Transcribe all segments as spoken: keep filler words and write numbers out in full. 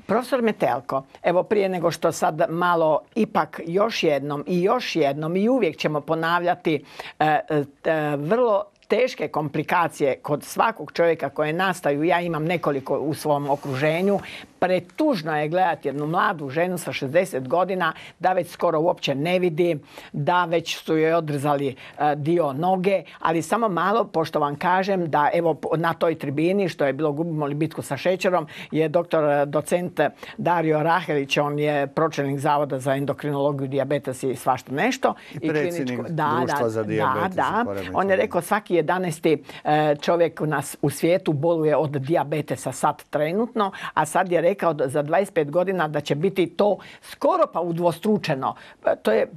Profesor Metelko, evo prije nego što sad malo ipak još jednom i još jednom i uvijek ćemo ponavljati e, e, vrlo teške komplikacije kod svakog čovjeka koje nastaju, ja imam nekoliko u svom okruženju, pretužno je gledati jednu mladu ženu sa šezdeset godina da već skoro uopće ne vidi, da već su joj odrezali dio noge, ali samo malo, pošto vam kažem da evo na toj tribini što je bilo Gubimo li bitku sa šećerom je doktor docent Dario Rahelić, on je pročelnik Zavoda za endokrinologiju, dijabetes i svašta nešto. I predsjednik društva za dijabetes. Da, da. On je rekao svaki jedanaesti čovjek u nas u svijetu boluje od dijabetesa sad trenutno, a sad je rekao za dvadeset pet godina da će biti to skoro pa udvostručeno. To je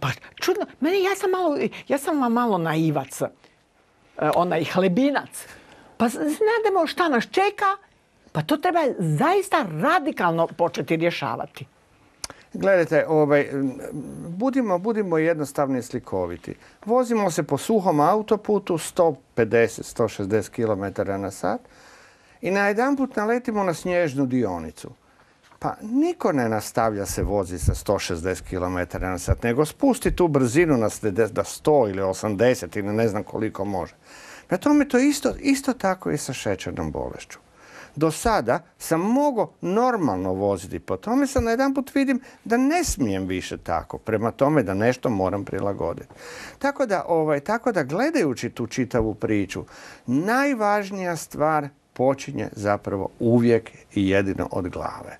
pa čudno. Meni, ja sam malo, ja sam vam malo naivac, onaj hlebinac. Pa znademo šta nas čeka, pa to treba zaista radikalno početi rješavati. Gledajte, ovaj, budimo, budimo jednostavni i slikoviti. Vozimo se po suhom autoputu sto pedeset do sto šezdeset kilometara na sat i najedanput naletimo na snježnu dionicu. Pa niko ne nastavlja se vozi sa sto šezdeset kilometara na sat, nego spusti tu brzinu na sto ili osamdeset ili ne znam koliko može. Na tome to isto, isto tako i sa šećernom bolešću. Do sada sam mogao normalno voziti, po tome sam najedanput vidim da ne smijem više tako, prema tome da nešto moram prilagoditi. Tako da, ovaj, tako da gledajući tu čitavu priču, najvažnija stvar počinje zapravo uvijek i jedino od glave.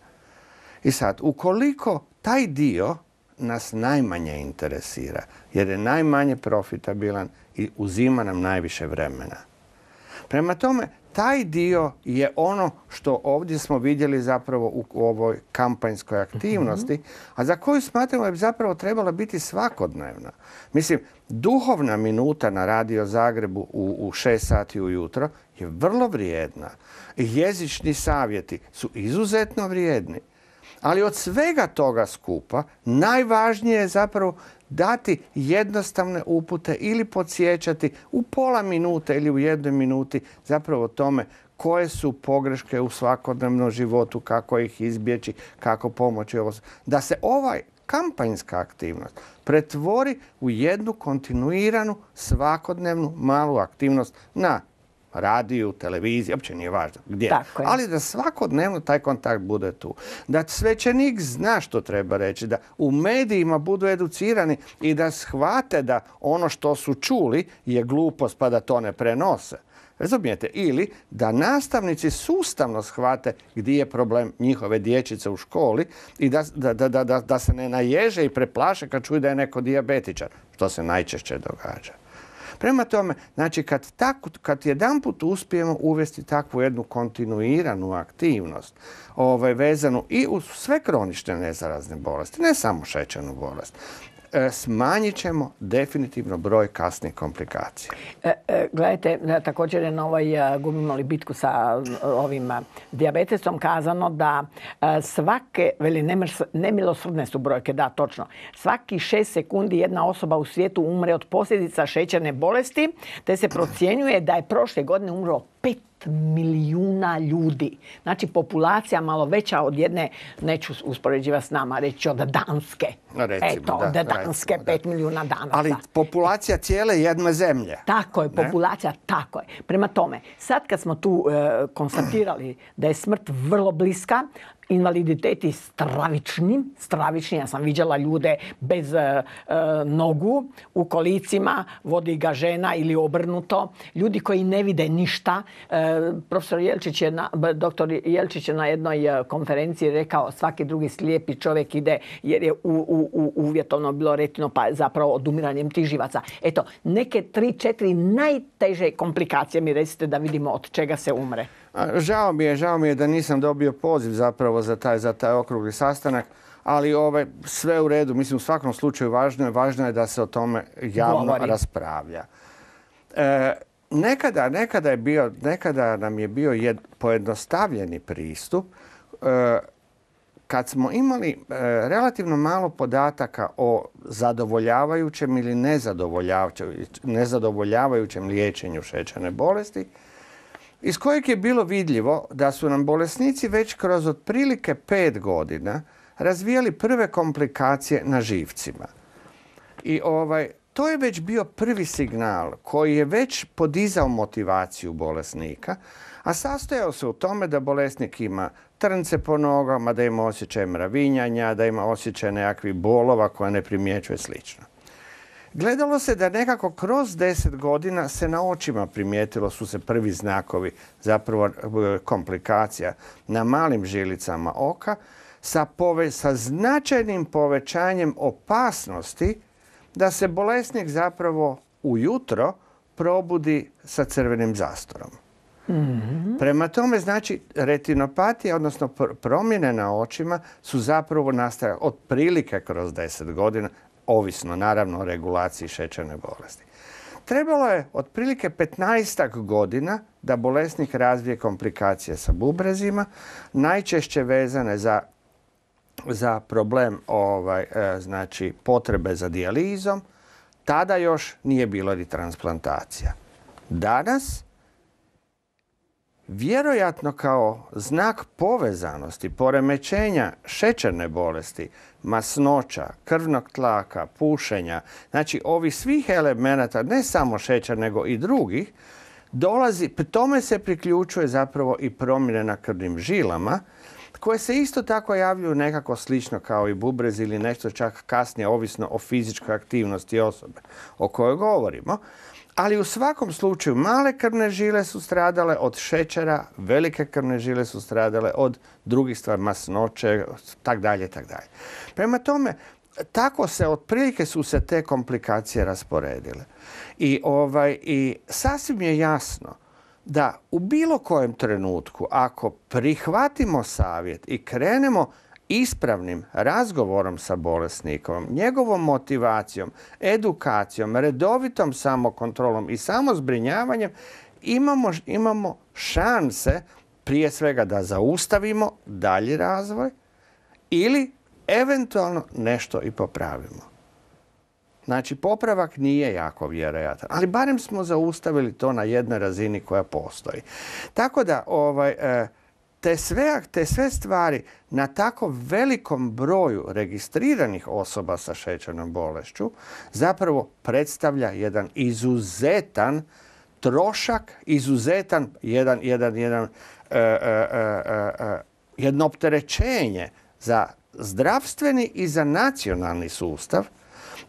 I sad, ukoliko taj dio nas najmanje interesira, jer je najmanje profitabilan i uzima nam najviše vremena. Prema tome, taj dio je ono što ovdje smo vidjeli zapravo u ovoj kampanjskoj aktivnosti, a za koju smatramo da bi zapravo trebala biti svakodnevna. Mislim, duhovna minuta na Radio Zagrebu u, u šest sati ujutro je vrlo vrijedna. Jezični savjeti su izuzetno vrijedni. Ali od svega toga skupa najvažnije je zapravo dati jednostavne upute ili podsjećati u pola minute ili u jednoj minuti zapravo o tome koje su pogreške u svakodnevnom životu, kako ih izbjeći, kako pomoći. Da se ovaj kampanjska aktivnost pretvori u jednu kontinuiranu, svakodnevnu, malu aktivnost na radiju, televiziji, uopće nije važno gdje. Ali da svakodnevno taj kontakt bude tu. Da svećenik zna što treba reći, da u medijima budu educirani i da shvate da ono što su čuli je glupost pa da to ne prenose. Razumijete? Ili da nastavnici sustavno shvate gdje je problem njihove dječice u školi i da, da, da, da, da se ne naježe i preplaše kad čuju da je neko dijabetičar, što se najčešće događa. Prema tome, znači kad, tako, kad jedanput uspijemo uvesti takvu jednu kontinuiranu aktivnost ovaj, vezanu i uz sve kronične nezarazne bolesti, ne samo šećernu bolest, smanjit ćemo definitivno broj kasnih komplikacija. E, e, gledajte, također je na ovoj Gubimo li bitku sa ovim dijabetesom kazano da svake, veli nemilosrdne su brojke, da točno, svaki šest sekundi jedna osoba u svijetu umre od posljedica šećerne bolesti, te se procjenjuje da je prošle godine umro pet milijuna ljudi. Znači populacija malo veća od jedne, neću uspoređivati s nama, reći od Danske. Recimo, Eto, od da, Danske, recimo, pet da. milijuna danaca. Ali populacija cijele jedne zemlje. Tako je, populacija, ne? Tako je. Prema tome, sad kad smo tu e, konstatirali da je smrt vrlo bliska, invaliditeti stravični, stravični. Ja sam viđala ljude bez e, e, nogu u kolicima, vodi ga žena ili obrnuto. Ljudi koji ne vide ništa. E, profesor Jelčić je na, doktor Jelčić je na jednoj konferenciji rekao svaki drugi slijepi čovjek ide jer je u, u, u, uvjetovno bilo retino pa zapravo odumiranjem tih živaca. Eto, neke tri, četiri najteže komplikacije mi recite da vidimo od čega se umre. Žao mi je, žao mi je da nisam dobio poziv zapravo za taj, za taj okrugli sastanak, ali ove, sve u redu. Mislim, u svakom slučaju važno je, važno je da se o tome javno Govori. raspravlja. E, nekada, nekada, je bio, nekada nam je bio jed, pojednostavljeni pristup e, kad smo imali e, relativno malo podataka o zadovoljavajućem ili nezadovoljavajućem, nezadovoljavajućem liječenju šećerne bolesti. iz kojeg je bilo vidljivo da su nam bolesnici već kroz otprilike pet godina razvijali prve komplikacije na živcima. I ovaj, to je već bio prvi signal koji je već podizao motivaciju bolesnika, a sastojao se u tome da bolesnik ima trnce po nogama, da ima osjećaj mravinjanja, da ima osjećaj nekakvih bolova koje ne primjećuje slično. Gledalo se da nekako kroz deset godina se na očima primijetilo su se prvi znakovi zapravo komplikacija na malim žilicama oka sa, pove, sa značajnim povećanjem opasnosti da se bolesnik zapravo ujutro probudi sa crvenim zastorom. Mm-hmm. Prema tome, znači, retinopatija, odnosno promjene na očima su zapravo nastajale otprilike kroz deset godina, ovisno naravno o regulaciji šećerne bolesti. Trebalo je otprilike petnaestak godina da bolesnik razvije komplikacije sa bubrezima, najčešće vezane za, za problem ovaj, e, znači, potrebe za dijalizom. Tada još nije bilo ni transplantacija. Danas, vjerojatno kao znak povezanosti, poremećenja šećerne bolesti, masnoća, krvnog tlaka, pušenja, znači ovih svih elemenata, ne samo šećer nego i drugih, dolazi, tome se priključuje zapravo i promjene na krvnim žilama, koje se isto tako javljaju nekako slično kao i bubrez ili nešto čak kasnije, ovisno o fizičkoj aktivnosti osobe o kojoj govorimo. Ali u svakom slučaju male krvne žile su stradale od šećera, velike krvne žile su stradale od drugih stvari, masnoće, tak dalje, tak dalje. Prema tome, tako se, otprilike su se te komplikacije rasporedile. I, ovaj, i sasvim je jasno da u bilo kojem trenutku, ako prihvatimo savjet i krenemo ispravnim razgovorom sa bolesnikom, njegovom motivacijom, edukacijom, redovitom samokontrolom i samozbrinjavanjem, imamo, imamo šanse prije svega da zaustavimo dalji razvoj ili eventualno nešto i popravimo. Znači, popravak nije jako vjerojatan, ali barem smo zaustavili to na jednoj razini koja postoji. Tako da, ovaj, te sve, te sve stvari na tako velikom broju registriranih osoba sa šećernom bolešću zapravo predstavlja jedan izuzetan trošak, izuzetan jedan, jedan, jedan, e, e, e, e, jedno opterećenje za zdravstveni i za nacionalni sustav.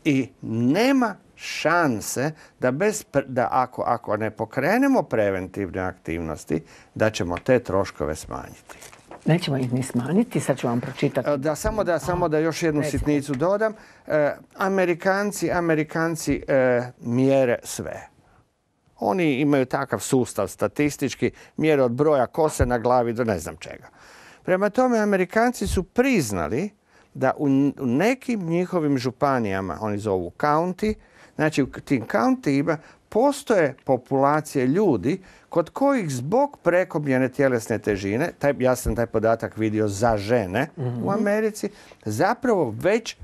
I nema šanse da, bez, da ako, ako ne pokrenemo preventivne aktivnosti, da ćemo te troškove smanjiti. Nećemo ih ni smanjiti, sad ću vam pročitati. Da, samo da, samo da još jednu Recimo. sitnicu dodam. E, Amerikanci, Amerikanci e, mjere sve. Oni imaju takav sustav statistički, mjere od broja kose na glavi do ne znam čega. Prema tome, Amerikanci su priznali da u nekim njihovim županijama, oni zovu county, znači u tim countyima postoje populacije ljudi kod kojih zbog prekomjerne tjelesne težine, taj, ja sam taj podatak vidio za žene mm-hmm. u Americi, zapravo već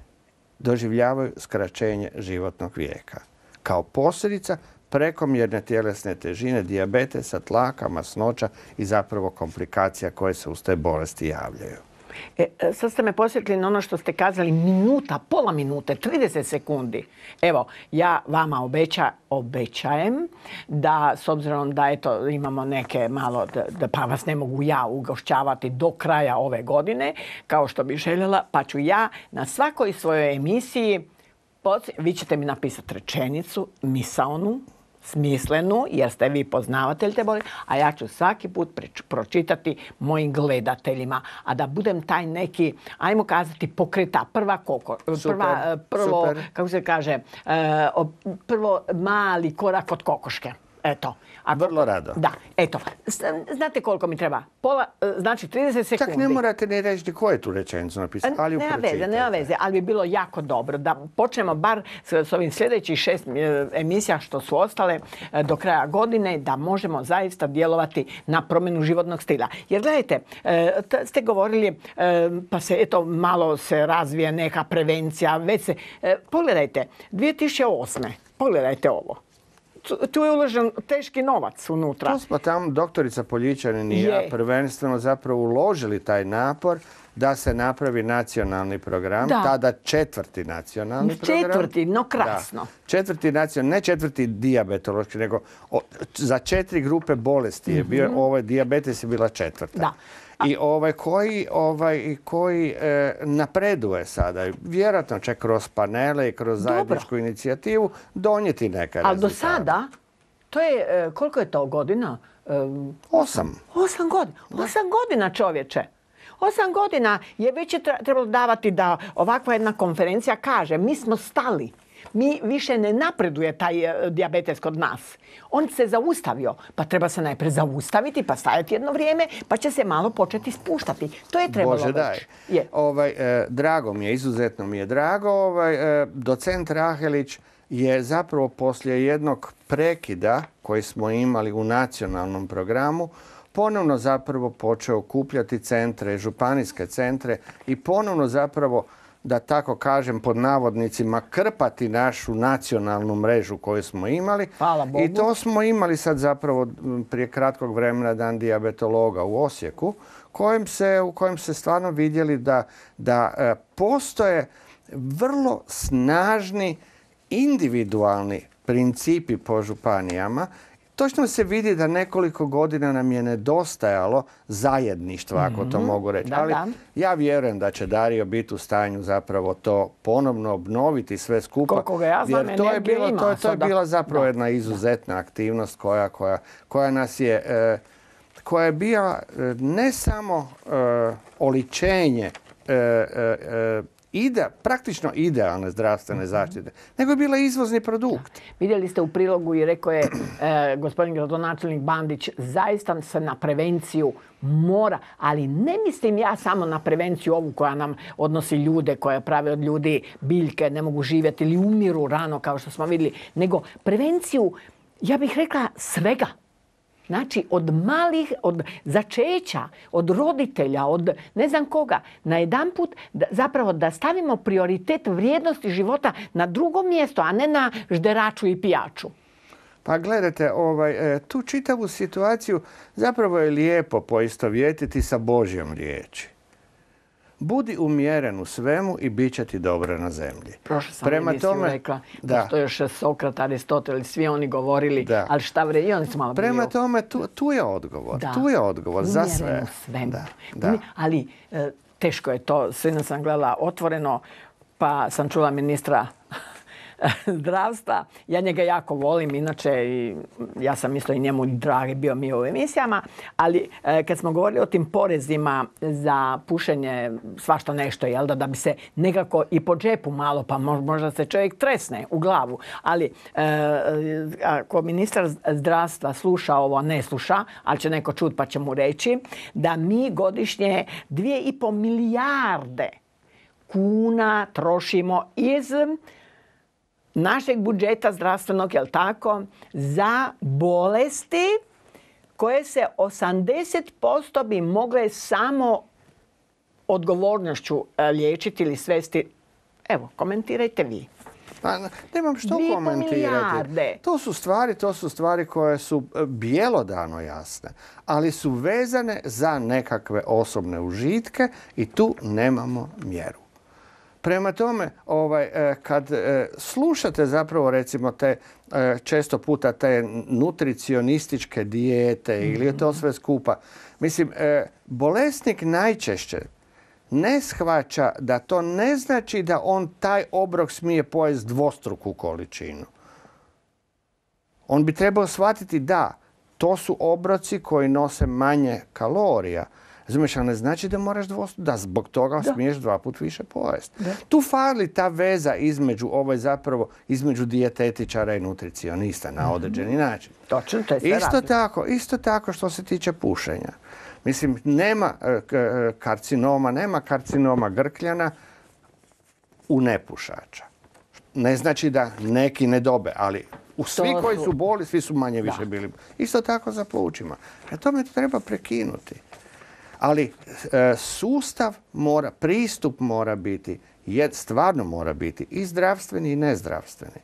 doživljavaju skraćenje životnog vijeka. Kao posljedica prekomjerne tjelesne težine, dijabetesa, tlaka, masnoća i zapravo komplikacija koje se uz te bolesti javljaju. E, sad ste me posjetili na ono što ste kazali, minuta, pola minute, trideset sekundi. Evo, ja vama obeća, obećajem da, s obzirom da eto, imamo neke malo, da, da pa vas ne mogu ja ugošćavati do kraja ove godine, kao što bih željela, pa ću ja na svakoj svojoj emisiji, vi ćete mi napisati rečenicu, misaonu, smislenu, jer ste vi poznavatelj te bolesti, a ja ću svaki put pročitati mojim gledateljima. A da budem taj neki, ajmo kazati, pokreta, prva koko, super, prva, prvo, super. kako se kaže, prvo mali korak od kokoške. Eto. A vrlo rado. Da, eto. Znate koliko mi treba? Pola, znači trideset sekundi. Čak ne morate ni reći ko je tu rečenicu napisati, ali nema veze, nema veze, ali bi bilo jako dobro da počnemo bar s, s ovim sljedećih šest emisija što su ostale do kraja godine, da možemo zaista djelovati na promjenu životnog stila. Jer gledajte, ste govorili, pa se eto malo se razvije neka prevencija, već se, pogledajte, dvije tisuće osme. Pogledajte ovo. tu, tu je uložen teški novac unutra. Tu smo tamo, doktorica Poljičanin i ja, prvenstveno zapravo uložili taj napor da se napravi nacionalni program, da. tada četvrti nacionalni program. Četvrti, no krasno. Da. Četvrti nacionalni, ne četvrti dijabetološki, nego o, za četiri grupe bolesti je bio, mm-hmm. ovaj dijabetes je bila četvrta. Da. I ovaj koji, ovaj, koji e, napreduje sada, vjerojatno će kroz panele i kroz zajedničku Dobro. inicijativu donijeti neka rezultate. Ali do sada, to je, koliko je to godina? Osam. Osam godina. Osam godina, čovječe. Osam godina je već trebalo davati da ovakva jedna konferencija kaže mi smo stali. Mi više ne napreduje taj dijabetes kod nas. On se zaustavio, pa treba se najprije zaustaviti, pa stajati jedno vrijeme, pa će se malo početi spuštati. To je trebalo Bože, daj. Je. Ovaj, e, drago mi je, izuzetno mi je drago. Ovaj, e, docent Rahelić je zapravo poslije jednog prekida koji smo imali u nacionalnom programu ponovno zapravo počeo okupljati centre, županijske centre i ponovno zapravo, da tako kažem, pod navodnicima, krpati našu nacionalnu mrežu koju smo imali. Hvala Bogu. I to smo imali sad zapravo prije kratkog vremena Dan dijabetologa u Osijeku, kojem se, u kojem se stvarno vidjeli da, da e, postoje vrlo snažni individualni principi po županijama. Točno se vidi da nekoliko godina nam je nedostajalo zajedništva, ako to mogu reći. Da, Ali da. ja vjerujem da će Dario biti u stanju zapravo to ponovno obnoviti sve skupa. Koliko ga ja znam, jer to je, bilo, ima to, je, to je sada. bila zapravo Da. jedna izuzetna aktivnost koja, koja, koja nas je, e, koja je bila e, ne samo e, oličenje e, e, ide, praktično idealne zdravstvene zaštite, nego je bila izvozni produkt. Da. Vidjeli ste u prilogu i rekao je e, gospodin gradonačelnik Bandić, zaista se na prevenciju mora, ali ne mislim ja samo na prevenciju ovu koja nam odnosi ljude, koja prave od ljudi biljke, ne mogu živjeti ili umiru rano kao što smo vidjeli, nego prevenciju, ja bih rekla, svega. Znači, od malih, od začeća, od roditelja, od ne znam koga, najedanput da, zapravo da stavimo prioritet vrijednosti života na drugo mjesto, a ne na žderaču i pijaču. Pa gledajte, ovaj, tu čitavu situaciju zapravo je lijepo poistovjetiti sa Božjom riječi. Budi umjeren u svemu i bit će ti dobro na zemlji. Prošle sam Prema emisiju tome, rekla da to još Sokrat, Aristotel, svi oni govorili, da. ali šta vre, i oni su malo Prema bili... tome, tu, tu je odgovor. Da. Tu je odgovor za sve. Umjeren u svemu. Da. Da. Ali e, teško je to. Sinoć sam gledala Otvoreno, pa sam čula ministra zdravstva. Ja njega jako volim, inače i ja sam isto i njemu dragi bio mi u emisijama, ali e, kad smo govorili o tim porezima za pušenje svašta nešto, jel da, da bi se nekako i po džepu malo, pa možda se čovjek tresne u glavu, ali e, ako ministar zdravstva sluša ovo, ne sluša, ali će neko čut pa će mu reći, da mi godišnje dvije i po milijarde kuna trošimo iz našeg budžeta zdravstvenog, jel tako, za bolesti koje se osamdeset posto bi mogle samo odgovornošću liječiti ili svesti. Evo, komentirajte vi. Pa, nemam što komentirati. To su stvari, to su stvari koje su bjelodano jasne, ali su vezane za nekakve osobne užitke i tu nemamo mjeru. Prema tome, ovaj, kad slušate zapravo recimo te često puta te nutricionističke dijete ili je to sve skupa, mislim, bolesnik najčešće ne shvaća da to ne znači da on taj obrok smije pojesti dvostruku količinu. On bi trebao shvatiti da to su obroci koji nose manje kalorija. Razumiješ, ali ne znači da moraš dvostruko, da zbog toga da. smiješ dva put više pojesti. Da. Tu fali ta veza između, ovaj zapravo, između dijetetičara i nutricionista na određeni način. Točno, to je sve isto tako, isto tako što se tiče pušenja. Mislim, nema karcinoma, nema karcinoma grkljana u nepušača. Ne znači da neki ne dobe, ali u svi koji su boli, svi su manje više bili. Isto tako za plućima. A tome treba prekinuti. Ali e, sustav mora, pristup mora biti, jed, stvarno mora biti i zdravstveni i nezdravstveni.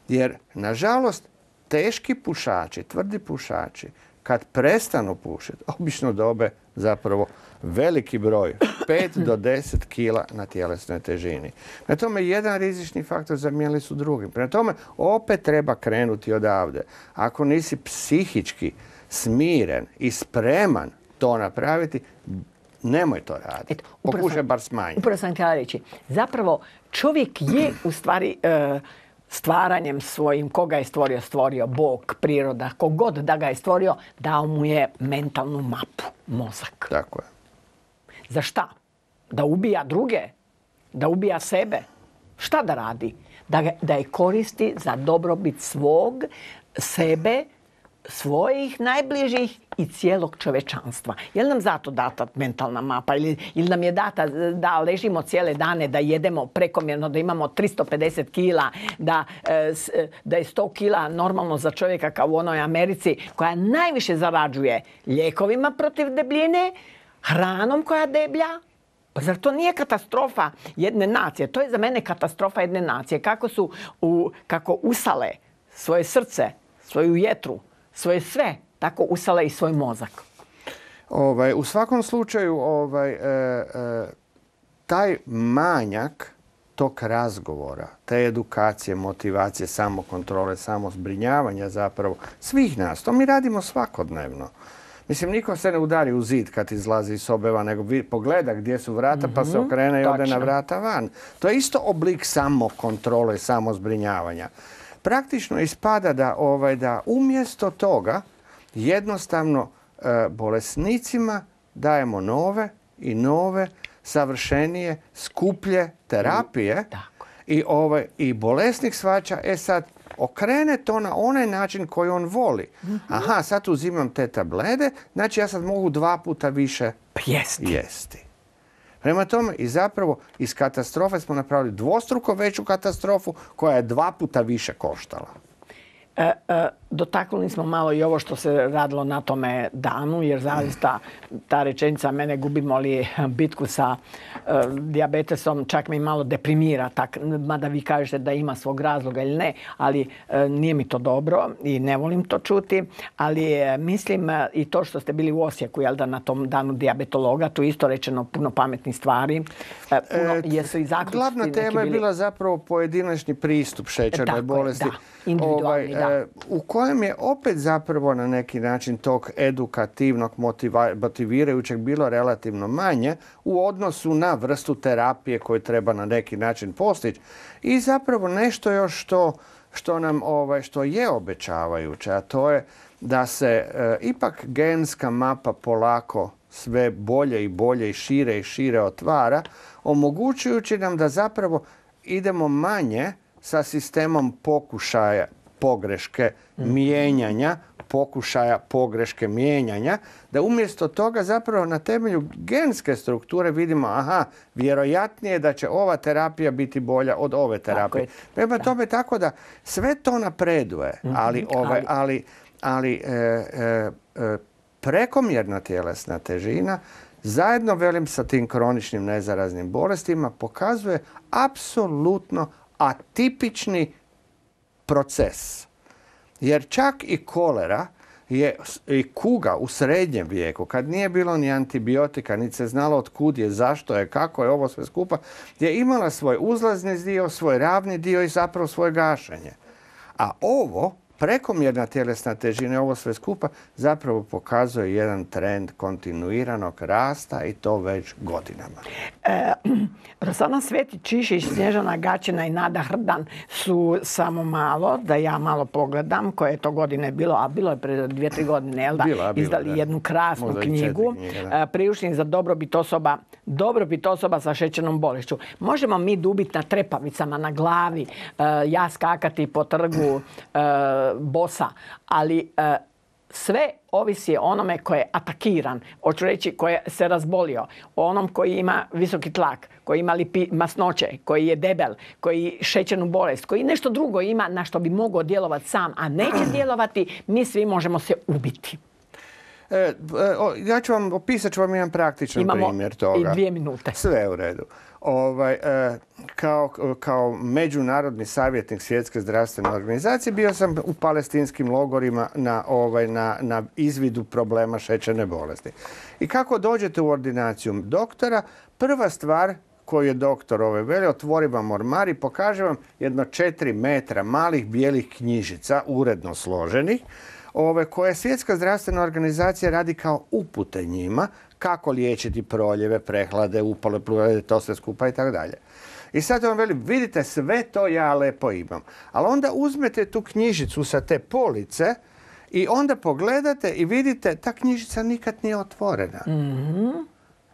Jer, nažalost, teški pušači, tvrdi pušači, kad prestanu pušiti, obično dobe zapravo veliki broj, pet do deset kila na tjelesnoj težini. Prema tome, jedan rizični faktor zamijenili su drugim. Prema tome, opet treba krenuti odavde. Ako nisi psihički smiren i spreman to napraviti, nemoj to raditi. Pokušaj bar smanjiti. Upravo sam htjela reći. Zapravo, čovjek je u stvari e, stvaranjem svojim, koga je stvorio, stvorio Bog, priroda, kogod da ga je stvorio, dao mu je mentalnu mapu, mozak. Tako je. Za šta? Da ubija druge? Da ubija sebe? Šta da radi? Da, ga, da je koristi za dobrobit svog, sebe, svojih najbližih i cijelog čovečanstva. Je li nam zato data mentalna mapa ili, ili nam je data da ležimo cijele dane, da jedemo prekomjerno, da imamo tristo pedeset kila, da, da je sto kila normalno za čovjeka kao u onoj Americi koja najviše zarađuje lijekovima protiv debljine, hranom koja deblja? Pa zar to nije katastrofa jedne nacije? To je za mene katastrofa jedne nacije. Kako su u, kako usale svoje srce, svoju jetru, svoje sve, tako usale i svoj mozak. Ovaj, u svakom slučaju, ovaj, e, e, taj manjak tog razgovora, te edukacije, motivacije, samokontrole, samozbrinjavanja zapravo svih nas, to mi radimo svakodnevno. Mislim, niko se ne udari u zid kad izlazi iz sobeva, nego pogleda gdje su vrata, pa se okrene i ode na vrata van. To je isto oblik samokontrole, samozbrinjavanja. Praktično ispada da, ovaj, da umjesto toga jednostavno e, bolesnicima dajemo nove i nove, savršenije, skuplje terapije i, ovaj, i bolesnik shvaća, e sad, okrene to na onaj način koji on voli. Aha, sad uzimam te tablete, znači ja sad mogu dva puta više jesti. jesti. Prema tome, i zapravo iz katastrofe smo napravili dvostruko veću katastrofu koja je dva puta više koštala. E, e, dotaknuli smo malo i ovo što se radilo na tome danu, jer zaista ta rečenica mene gubimo li bitku sa e, dijabetesom čak me malo deprimira, tak, mada vi kažete da ima svog razloga ili ne, ali e, nije mi to dobro i ne volim to čuti, ali e, mislim e, i to što ste bili u Osijeku, jel da na tom danu dijabetologa, tu isto rečeno puno pametnih stvari. E, puno, e, jesu i zaključci glavna tema je bila zapravo pojedinačni pristup šećernoj bolesti. Je, da, individualni, ovaj, da. U kojem je opet zapravo na neki način tog edukativnog, motivirajućeg bilo relativno manje u odnosu na vrstu terapije koju treba na neki način postići. I zapravo nešto još što, što nam ovaj, što je obećavajuće, a to je da se e, ipak genska mapa polako sve bolje i bolje i šire i šire otvara, omogućujući nam da zapravo idemo manje sa sistemom pokušaja pogreške mijenjanja, pokušaja pogreške mijenjanja, da umjesto toga zapravo na temelju genske strukture vidimo, aha, vjerojatnije je da će ova terapija biti bolja od ove terapije. Prema tome tako da sve to napreduje, ali, ovaj, ali, ali e, e, e, prekomjerna tjelesna težina zajedno, velim, sa tim kroničnim nezaraznim bolestima pokazuje apsolutno atipični proces. Jer čak i kolera je, i kuga u srednjem vijeku, kad nije bilo ni antibiotika, niti se znalo od kud je, zašto je, kako je ovo sve skupa, je imala svoj uzlazni dio, svoj ravni dio i zapravo svoje gašenje. A ovo, prekomjerna tjelesna težina, ovo sve skupa, zapravo pokazuje jedan trend kontinuiranog rasta i to već godinama. E, Rosana Svetić-Čišić, Snježana Gaćina i Nada Hrdan su samo malo, da ja malo pogledam koje je to godine bilo, a bilo je pre dvije, tri godine, jel da? Bila, bila, izdali da. jednu krasnu Možda knjigu, knjige, priručnik za dobrobit osoba, dobrobit osoba sa šećernom bolešću. Možemo mi dubiti na trepavicama, na glavi, ja skakati po trgu bosa, ali sve ovisi o onome koji je atakiran, hoću reći koji se razbolio, o onom koji ima visoki tlak, koji ima lipi, masnoće, koji je debel, koji šećernu bolest, koji nešto drugo ima na što bi mogao djelovati sam, a neće djelovati, mi svi možemo se ubiti. E, ja ću vam, opisat ću vam jedan praktičan Imamo primjer toga. i dvije minute. Sve u redu. Ovaj, e, kao, kao međunarodni savjetnik Svjetske zdravstvene organizacije bio sam u palestinskim logorima na, ovaj, na, na izvidu problema šećerne bolesti. I kako dođete u ordinaciju doktora, prva stvar koju je doktor ove veli, otvori vam ormar i pokaže vam jedno četiri metra malih bijelih knjižica, uredno složenih, ove, koje Svjetska zdravstvena organizacija radi kao upute njima, kako liječiti proljeve, prehlade, upale, plurale, to sve skupa i tako dalje. I sad vam veli, vidite, sve to ja lepo imam. Ali onda uzmete tu knjižicu sa te police i onda pogledate i vidite, ta knjižica nikad nije otvorena. Mm-hmm.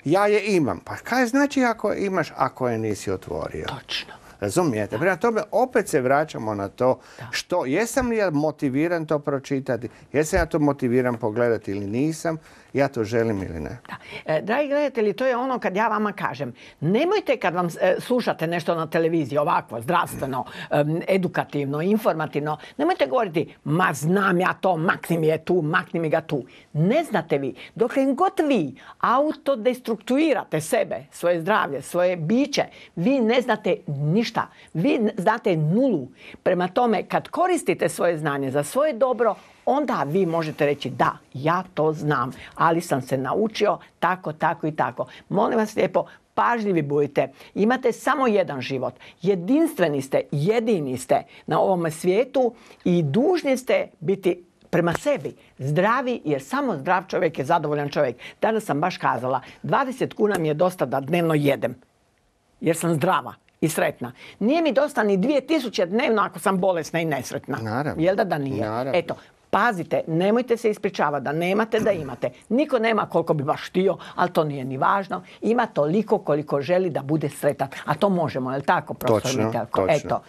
Ja je imam. Pa kaj znači ako imaš, ako je nisi otvorio? Točno. Razumijete? Prema tome, opet se vraćamo na to što, jesam li ja motiviran to pročitati, jesam ja to motiviran pogledati ili nisam, ja to želim ili ne. Da. E, dragi gledatelji, to je ono kad ja vama kažem, nemojte kad vam e, slušate nešto na televiziji, ovako, zdravstveno, e, edukativno, informativno, nemojte govoriti, ma znam ja to, makni mi je tu, makni mi ga tu. Ne znate vi, dokle god vi autodestruktuirate sebe, svoje zdravlje, svoje biće, vi ne znate ništa. Vi znate nulu. Prema tome, kad koristite svoje znanje za svoje dobro, onda vi možete reći da, ja to znam, ali sam se naučio tako, tako i tako. Molim vas lijepo, pažljivi budite. Imate samo jedan život. Jedinstveni ste, jedini ste na ovome svijetu i dužni ste biti prema sebi zdravi, jer samo zdrav čovjek je zadovoljan čovjek. Danas sam baš kazala, dvadeset kuna mi je dosta da dnevno jedem, jer sam zdrava i sretna. Nije mi dosta ni dvije tisuće dnevno ako sam bolesna i nesretna. Naravno. Jel da da nije? Naravno. Eto, pazite, nemojte se ispričavati da nemate, da imate. Niko nema koliko bi baš htio, ali to nije ni važno. Ima toliko koliko želi da bude sretan. A to možemo, je li tako, profesor Metelko? Točno. Eto,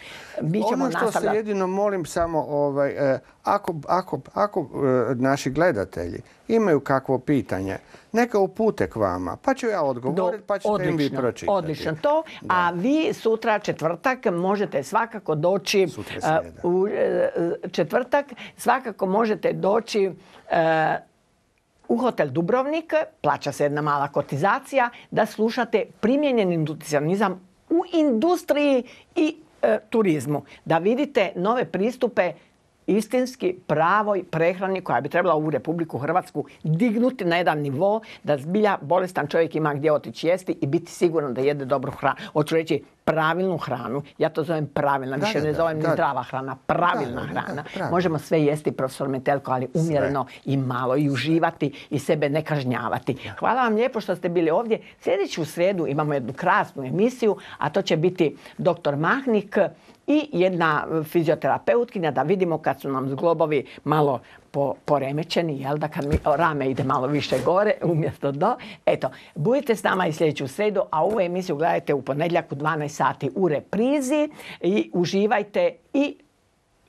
mi ćemo ono što nastavljati. se jedino molim samo, ovaj, eh, ako, ako, ako eh, naši gledatelji imaju kakvo pitanje, neka upute k vama, pa ću ja odgovoriti, pa ćete odlično, im vi pročitati. Odlično to, da. A vi sutra četvrtak možete svakako doći, uh, u uh, četvrtak svakako možete doći uh, u hotel Dubrovnik, plaća se jedna mala kotizacija, da slušate primijenjeni nutricionizam u industriji i uh, turizmu. Da vidite nove pristupe istinski pravoj prehrani koja bi trebala u Republiku Hrvatsku dignuti na jedan nivo da zbilja bolestan čovjek ima gdje otići jesti i biti siguran da jede dobru hranu. Hoću reći pravilnu hranu. Ja to zovem pravilna, više da, ne zovem da, ni zdrava hrana. Pravilna da, da, hrana. Da, možemo sve jesti, profesor Metelko, ali umjereno sve. I malo i uživati i sebe ne kažnjavati. Hvala vam lijepo što ste bili ovdje. Sljedeću srijedu imamo jednu krasnu emisiju, a to će biti doktor Mahnik i jedna fizioterapeutkinja, da vidimo kad su nam zglobovi malo po, poremećeni, jel da, kad mi rame ide malo više gore umjesto do. Eto, budite s nama i sljedeću srijedu, a ovu emisiju gledajte u ponedjeljak u dvanaest sati u reprizi i uživajte i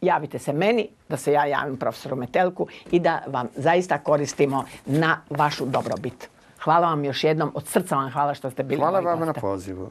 javite se meni, da se ja javim profesoru Metelku i da vam zaista koristimo na vašu dobrobit. Hvala vam još jednom, od srca vam hvala što ste bili. Hvala vam na pozivu.